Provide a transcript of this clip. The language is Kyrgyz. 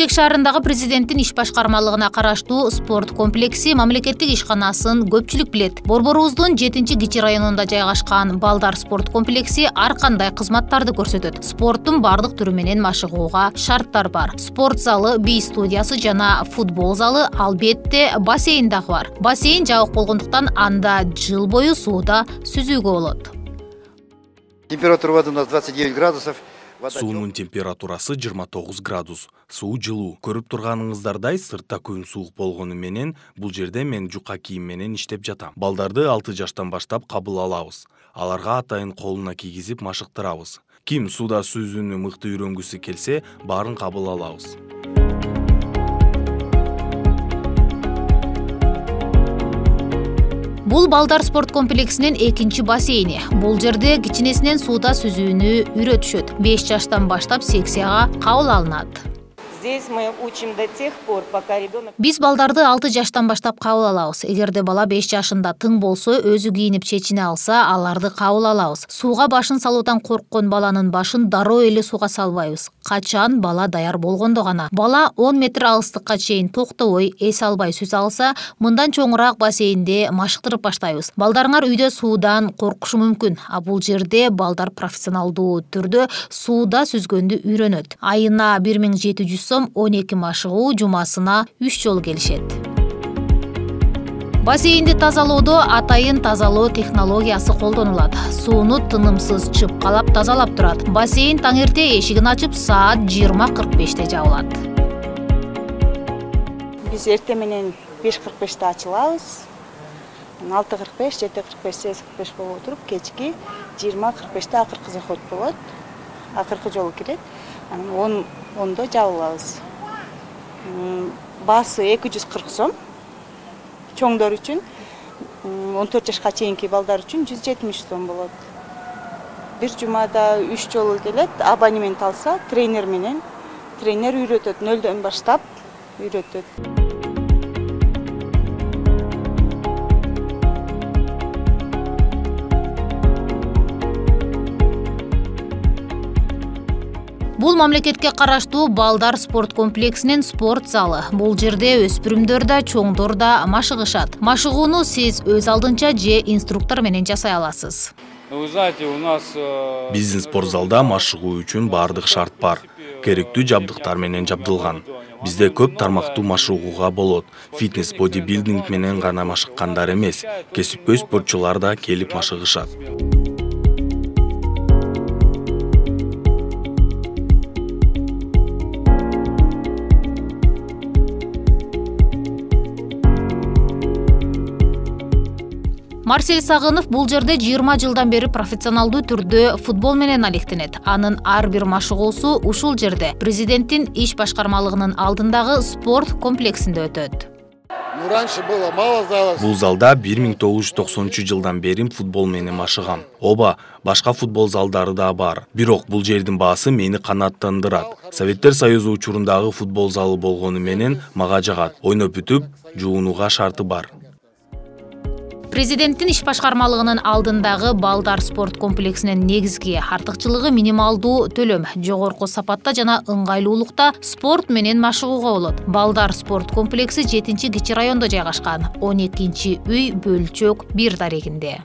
Бишкек шаарындагы президенттин иш башкармалыгына караштуу спорт комплекси мамлекеттик ишканасын көпчүлүк билет. Борборубуздун 7-Кичи районунда жайгашкан Балдар спорт комплекси ар кандай кызматтарды көрсөтөт. Спорттун бардык түрү менен машыгууга шарттар бар. Спорт залы, би студиясы жана футбол залы, албетте бассейн дагы бар. Бассейн жабык болгондуктан анда жыл бою сууда сүзүүгө болот. Температура воды у нас 29 градусов. Суунун температурасы 29 градус. Суу жылуу. Көрүп турганыңыздардай сыртта күн суук болгону менен бул жерде мен жука кийим менен иштеп жатам. Балдарды 6 жаштан баштап кабыл алабыз. Аларга атайын колуна кийгизип машыктырабыз. Ким сууда сүзүүнү мыкты үйрөнгүсү келсе, баарын кабыл алабыз. Бул Балдар спорт комплексинин экинчи бассейни. Бул жерде кичинесинен сууда сүзүүнү үйрөтүшөт. 5 жаштан баштап секцияга кабыл алынат. Здесь мы учим до тех пор, пока ребенок... Биз балдарды 6 жаштан баштап кабыл алабыз. Эгерде бала 5 жашында тың болсо, өзү кийинип чечине алса, аларды кабыл алабыз. Сууга башын салуудан корккон баланын башын дароо эле сууга салбайбыз. Качан бала даяр болгондо гана. Бала 10 метр алыстыкка чейин токтобой, эс албай сүз алса, мындан чоңураак бассейнде машыктырып баштайбыз. Балдарыңар үйдө суудан коркушу мүмкүн, а бул жерде балдар профессионалдуу түрдө сууда сүзгөндү үйрөнөт. Айына 1700 сом 12 машыгуу, жумасына 3 жолу келишет. Бассейнди тазалоодо атайын тазалоо технологиясы колдонулат. Сууну тынымсыз чыпкалап тазалап турат. Бассейн таң эрте эшигин ачып саат 20:45 жабылат. Биз эрте менен 5:45 ачылабыз. 6:45, 7:45, 8:45 болуп туруп, кечки 20:45 акыркы заход болот. Акыркы жолу кирет. Анан 10:00 жабылабыз. Баасы 240 сом. Чоңдор үчүн 14 жашка чейинки балдар үчүн 170 сом болот. Бир жумада 3 жолу келет. Абонемент алса, тренер менен. Тренер үйрөтөт, 0-дөн баштап үйрөтөт. Бул мамлекетке караштуу Балдар спорт комплексинин спорт залы. Бул жерде өспүрүмдөр да, чоңдор да машыгышат. Машыгууну сиз өз алдынча же инструктор менен жасай аласыз. Вы знаете, у нас... Биздин спорт залда машыгуу үчүн бардык шарт бар. Керектүү жабдыктар менен жабдылган. Бизде көп тармактуу машыгууга болот. Фитнес, бодибилдинг менен гана машыккандар эмес, кесипкөй спортчулар да келип машыгышат. Марсель Сагынов бул жерде 20 жылдан бери профессионалдуу түрдө футбол менен алектенет. Анын ар бир машыгуусу ушул жерде, президенттин иш башкармалыгынын алдындагы спорт комплексинде өтөт. Бул залда 1990 жылдан бери футбол менен машыгам. Оба, башка футбол залдары да бар. Бирок бул жердин баасы мени канааттандырат. Советтер Союзу учурундагы футбол залы болгону менен мага жагат. Ойноп бүтүп, жуунууга шарты бар. Президенттин иш башкармалыгынын алдындагы Балдар спорт комплексинин негизги артыкчылыгы минималдуу төлөм, жогорку сапатта жана ыңгайлуулукта спорт менен машыгууга болот. Балдар спорт комплекси 7-Кичи райондо жайгашкан, 12-үй бөлчөк 1 дарегинде.